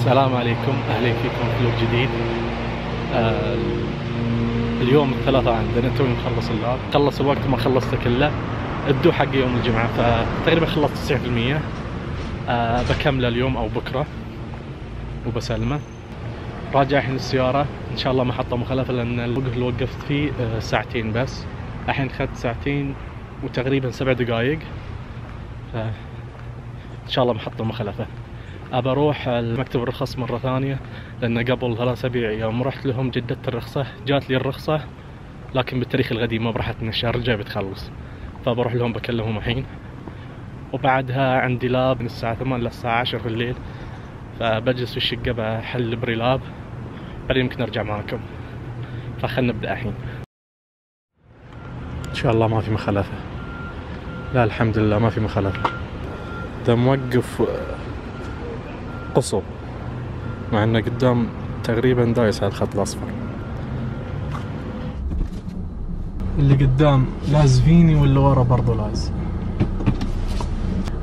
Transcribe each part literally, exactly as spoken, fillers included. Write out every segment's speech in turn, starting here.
السلام عليكم، اهلا فيكم في فلوق جديد. آه اليوم الثلاثاء عندنا، توي مخلص اللاب، خلص الوقت ما خلصته كله، الدو حق يوم الجمعة، فتقريبا خلصت تسعين بالمية. آه بكمله اليوم او بكرة وبسلمه. راجع الحين السيارة، ان شاء الله محطة مخلفة لان الوقف اللي وقفت فيه آه ساعتين بس، الحين اخذت ساعتين وتقريبا سبع دقايق، ف ان شاء الله محطة مخلفة. ابى اروح مكتب الرخص مرة ثانية لان قبل ثلاث اسابيع يوم رحت لهم جددت الرخصة، جات لي الرخصة لكن بالتاريخ القديم ما برحت من الشهر الجاي بتخلص، فبروح لهم بكلمهم الحين. وبعدها عندي لاب من الساعة ثمانية للساعة عشرة في الليل، فبجلس في الشقة بحل بري لاب، بعدين يمكن ارجع معاكم. فخلنا نبدأ الحين. ان شاء الله ما في مخالفة، لا الحمد لله ما في مخالفة. ده موقف قصو مع انه قدام تقريبا دايس على الخط الاصفر. اللي قدام لاز فيني واللي ورا برضو لاز.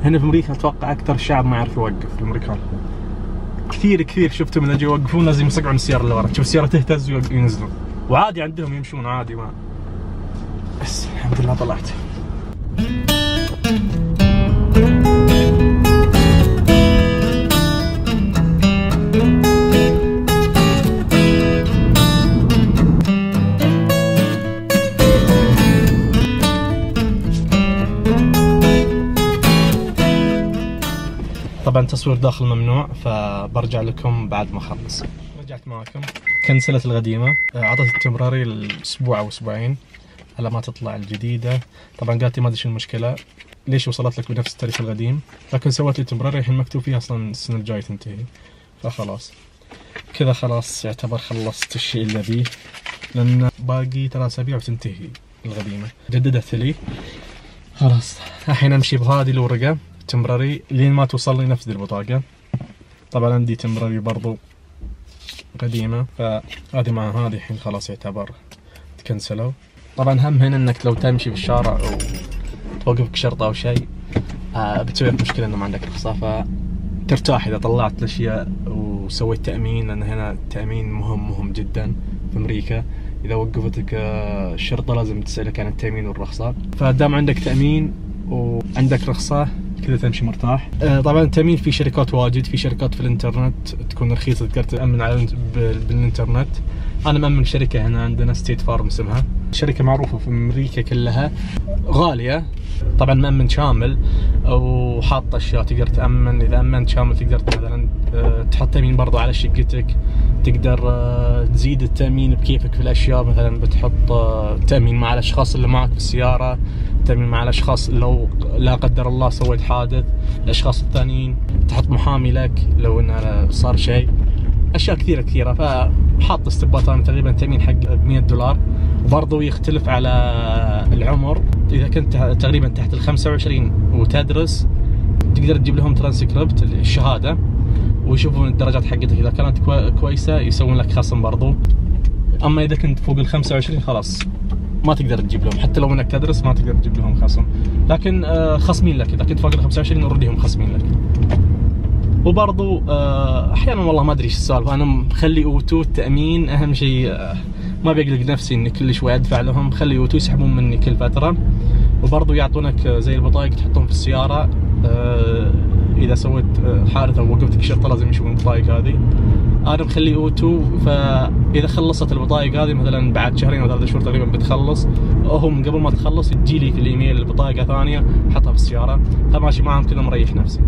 هنا في امريكا اتوقع اكثر شعب ما يعرف يوقف، الامريكان كثير كثير شفتهم من اجي يوقفون لازم يصقعون السيارة اللي ورا، تشوف السيارة تهتز وينزلون، وعادي عندهم يمشون عادي، ما بس الحمد لله طلعت. طبعا تصوير داخل ممنوع، فبرجع لكم بعد ما اخلص. رجعت معكم، كنسلت القديمة، عطت التمراري الاسبوع او اسبوعين على ما تطلع الجديدة. طبعا قالت لي ما ادري شو المشكلة، ليش وصلت لك بنفس التاريخ القديم، لكن سويت لي تمراري الحين مكتوب فيها اصلا السنة الجاية تنتهي، فخلاص كذا خلاص يعتبر خلصت الشيء اللي ابيه، لان باقي ثلاث اسابيع وتنتهي القديمة. جددت لي خلاص، الحين امشي بهذه الورقة تمراري لين ما توصل لي نفس البطاقة. طبعا عندي تمراري برضو قديمة، فهذه مع هذه الحين خلاص يعتبر تكنسلوا. طبعا هم هنا انك لو تمشي في الشارع او توقفك شرطة او شيء آه بتسوي لك مشكلة انه ما عندك رخصة، فترتاح اذا طلعت الاشياء وسويت تأمين، لان هنا التأمين مهم مهم جدا في امريكا. اذا وقفتك الشرطة لازم تسألك عن التأمين والرخصة، فدام عندك تأمين وعندك رخصة كذا تمشي مرتاح. آه طبعا التأمين في شركات واجد، في شركات في الانترنت تكون رخيصة تقدر تأمن على بالانترنت. انا مأمن شركة هنا عندنا ستيت فارم اسمها، شركة معروفة في امريكا كلها، غالية. طبعا مأمن شامل وحاطة اشياء تقدر تأمن، اذا أمنت شامل تقدر مثلا تحط تأمين برضو على شقتك، تقدر تزيد التأمين بكيفك في الاشياء، مثلا بتحط تأمين مع الاشخاص اللي معك في السيارة، تأمين مع الاشخاص لو لا قدر الله سويت حادث، الاشخاص الثانيين تحط محامي لك لو انه صار شيء، اشياء كثيرة كثيرة. فحاط استبات انا تقريبا تأمين حق مية دولار، وبرضه يختلف على العمر. اذا كنت تقريبا تحت ال خمسة وعشرين وتدرس تقدر تجيب لهم ترانسكريبت الشهادة ويشوفون الدرجات حقتك، اذا كانت كويسة يسوون لك خصم برضو. اما اذا كنت فوق ال خمسة وعشرين خلاص ما تقدر تجيب لهم، حتى لو انك تدرس ما تقدر تجيب لهم خصم، لكن آه خصمين لك اذا كنت فوق ال خمسة وعشرين اوريدي هم خصمين لك. وبرضو آه احيانا والله ما ادري ايش السالفه، انا مخلي اوتو التامين اهم شيء، آه ما بيقلق نفسي اني كل شوي ادفع لهم، خلي اوتو يسحبون مني كل فتره. وبرضو يعطونك زي البطايق تحطهم في السياره، آه اذا سويت حادث او وقفتك الشرطه لازم يشوفون البطايق هذه. انا مخلي اوتو، فاذا خلصت البطايق هذه مثلا بعد شهرين او ثلاث شهور تقريبا بتخلص، هم قبل ما تخلص تجي لي في الايميل البطاقه ثانيه احطها في السياره، فماشي معهم كذا مريح نفسي.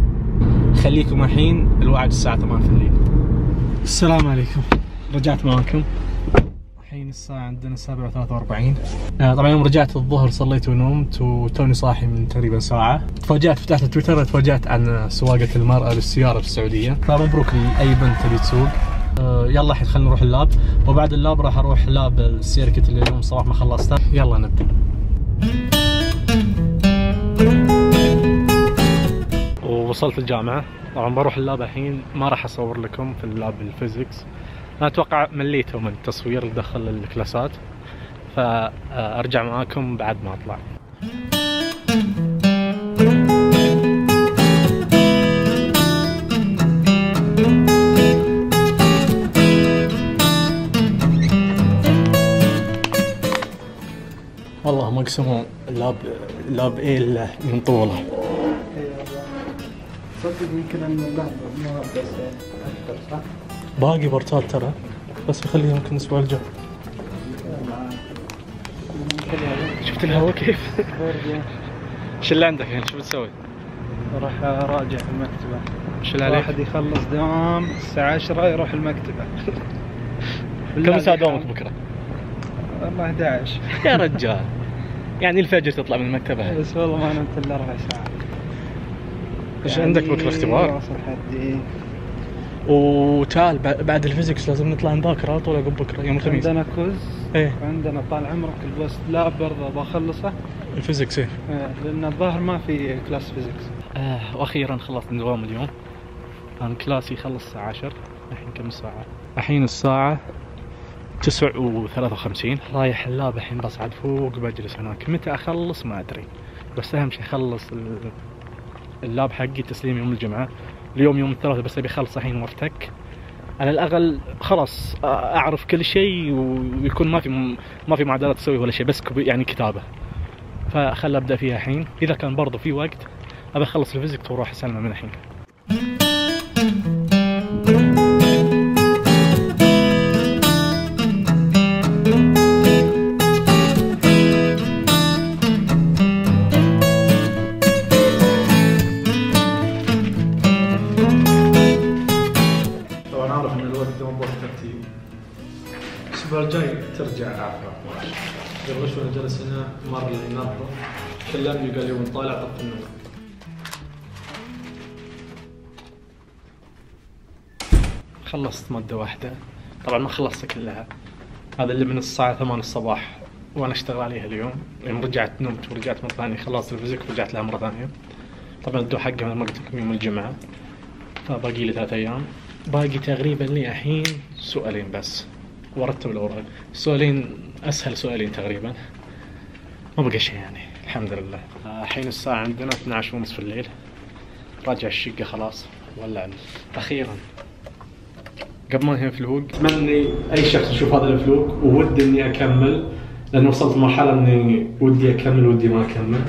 خليكم الحين الوعد الساعه ثمانية في الليل. السلام عليكم، رجعت معكم الحين الساعه عندنا السابعة وثلاثة وأربعين. آه طبعا يوم رجعت الظهر صليت ونمت وتوني صاحي من تقريبا ساعه، تفاجأت فتحت تويتر تفاجأت عن سواقه المراه للسياره في السعوديه، فمبروك لاي بنت تبي تسوق. آه يلا الحين خلينا نروح اللاب، وبعد اللاب راح اروح لاب السيركت اللي اليوم الصباح ما خلصته. يلا نبدا. وصلت الجامعه، طبعا بروح اللاب الحين، ما راح اصور لكم في اللاب الفيزيكس، انا اتوقع مليتوا من التصوير اللي دخل الكلاسات، فارجع معاكم بعد ما اطلع. يسمون لاب لاب ايه من طوله. صدق يمكن ان اللعبة ما بس اكثر صح؟ باقي بارتات ترى، بس بخليها يمكن الاسبوع الجاي. شفت الهواء كيف؟ ايش اللي عندك يعني؟ شو بتسوي؟ راح اراجع في المكتبة. ايش اللي عليك؟ واحد يخلص دوام الساعة عشرة يروح المكتبة. كم ساعة دوامك بكرة؟ والله أحد عشر. يا رجال يعني الفجر تطلع من المكتبة. بس والله ما نمت الا ربع ساعة. ايش عندك بكرة اختبار؟ واصل حدي. وتعال بعد الفيزيكس لازم نطلع نذاكر على طول عقب بكرة يوم الخميس. عندنا كوز. ايه عندنا طال عمرك البوست لاب برضه بخلصه. الفيزيكس ايه؟ ايه لأن الظاهر ما في كلاس فيزيكس. آه واخيرا خلصت دوام اليوم. كان كلاسي يخلص الساعة عشر. الحين كم الساعة؟ الحين الساعة تسع وثلاثة وخمسين. رايح اللاب الحين بصعد فوق بجلس هناك. متى اخلص ما ادري، بس اهم شيء اخلص اللاب حقي تسليم يوم الجمعة. اليوم يوم الثلاثاء بس ابي اخلص الحين وافتك على الاقل خلاص اعرف كل شيء ويكون ما في ما في معادلات تسوي ولا شيء، بس يعني كتابة. فخل ابدا فيها الحين. اذا كان برضه في وقت ابي اخلص الفيزيكس واروح اسلمه من الحين. طبعا اعرف ان الوقت ده مو ترتيب. الاسبوع الجاي ترجع عافية. قبل شوي جلس هنا مر اللي ناظره كلمني قال لي وانت طالع طفي النور. خلصت مادة واحدة، طبعا ما خلصتها كلها. هذا اللي من الساعة ثمانية الصباح وانا اشتغل عليها اليوم. يوم رجعت نمت ورجعت مرة ثانية خلصت الفيزيك ورجعت لها مرة ثانية. طبعا الدو حقها ما قلت لكم يوم الجمعة، فباقي لي ثلاث ايام. باقي تقريبا لي الحين سؤالين بس وارتب الاوراق. سؤالين اسهل سؤالين تقريبا، ما بقى شيء يعني الحمد لله. الحين الساعة عندنا اثني عشر ونص في الليل. راجع الشقة خلاص ولع اخيرا. قبل ما انهي الفلوق اتمنى اي شخص يشوف هذا الفلوق وودي اني اكمل، لانه وصلت مرحلة اني ودي اكمل ودي ما اكمل.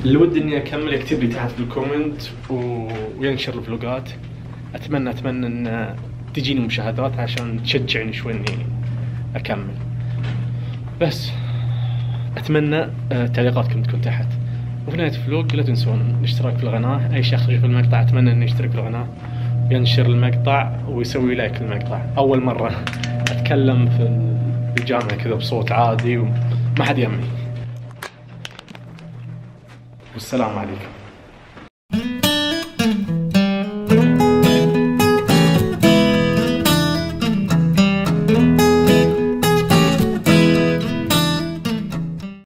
اللي ودي اني اكمل يكتب لي تحت في الكومنت و... وينشر الفلوقات. اتمنى اتمنى ان تجيني مشاهدات عشان تشجعني شوي اني اكمل. بس اتمنى تعليقاتكم تكون تحت. وفي نهاية الفلوق لا تنسون الاشتراك في القناة. اي شخص يشوف المقطع اتمنى انه يشترك في القناة، ينشر المقطع ويسوي لايك للمقطع. اول مرة اتكلم في الجامعة كذا بصوت عادي وما حد يمي. والسلام عليكم.